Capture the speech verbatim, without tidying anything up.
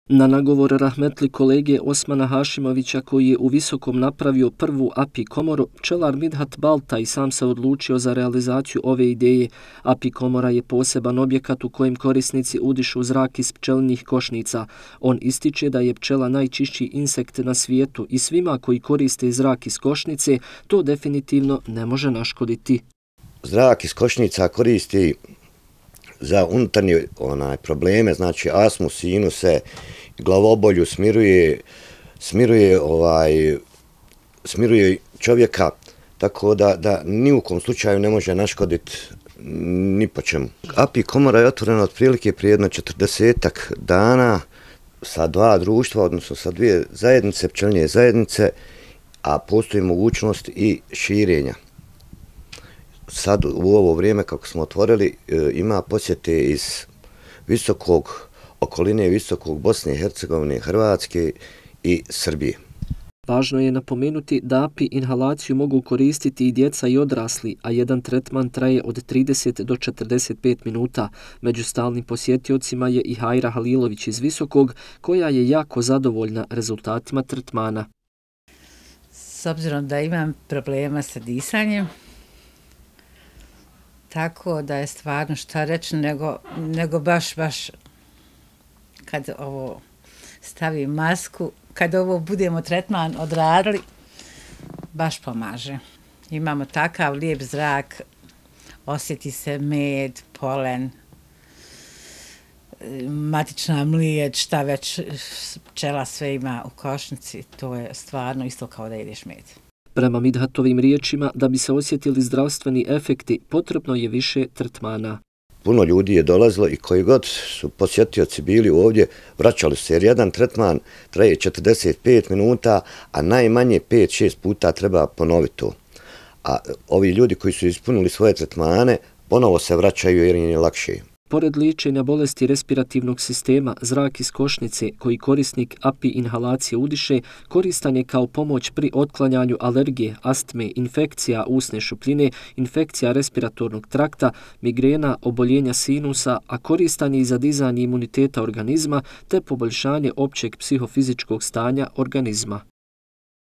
Na nagovor rahmetli kolege Osmana Hašimovića, koji je u Visokom napravio prvu A P I komoru, pčelar Midhat Baltaj sam se odlučio za realizaciju ove ideje. A P I komora je poseban objekat u kojem korisnici udišu zrak iz pčelinjih košnica. On ističe da je pčela najčišći insekt na svijetu i svima koji koriste zrak iz košnice to definitivno ne može naškoditi. Zrak iz košnica koristi za unutarnje onaj, probleme, znači astmu, sinuse, glavobolju, smiruje, smiruje, ovaj, smiruje čovjeka, tako da, da ni u kom slučaju ne može naškoditi ni po čemu. A P I komora je otvorena otprilike prije jedno četrdesetak dana sa dva društva, odnosno sa dvije zajednice, pčelinje zajednice, a postoji mogućnost i širenja. Sad u ovo vrijeme kako smo otvorili ima posjete iz visokog, okoline visokog Bosne i Hercegovine, Hrvatske i Srbije. Važno je napomenuti da A P I inhalaciju mogu koristiti i djeca i odrasli, a jedan tretman traje od trideset do četrdeset pet minuta. Među stalnim posjetiocima je i Hajra Halilović iz Visokog, koja je jako zadovoljna rezultatima tretmana. S obzirom da imam problema sa disanjem, tako da je stvarno šta reći, nego, nego baš, baš kad ovo stavim masku, kad ovo budemo tretman odradili, baš pomaže. Imamo takav lijep zrak, osjeti se med, polen, matična mliječ, šta već pčela sve ima u košnici, to je stvarno isto kao da jedeš med. Prema Midhatovim riječima, da bi se osjetili zdravstveni efekti, potrebno je više tretmana. Puno ljudi je dolazilo i koji god su posjetioci bili ovdje, vraćali se jer jedan tretman traje četrdeset pet minuta, a najmanje pet šest puta treba ponoviti to. A ovi ljudi koji su ispunili svoje tretmane, ponovo se vraćaju jer im je lakše. Pored liječenja bolesti respirativnog sistema, zrak iz košnice koji korisnik A P I inhalacije udiše koristan je kao pomoć pri otklanjanju alergije, astme, infekcija usne šupljine, infekcija respiratornog trakta, migrena, oboljenja sinusa, a koristan je i za dizanje imuniteta organizma te poboljšanje općeg psihofizičkog stanja organizma.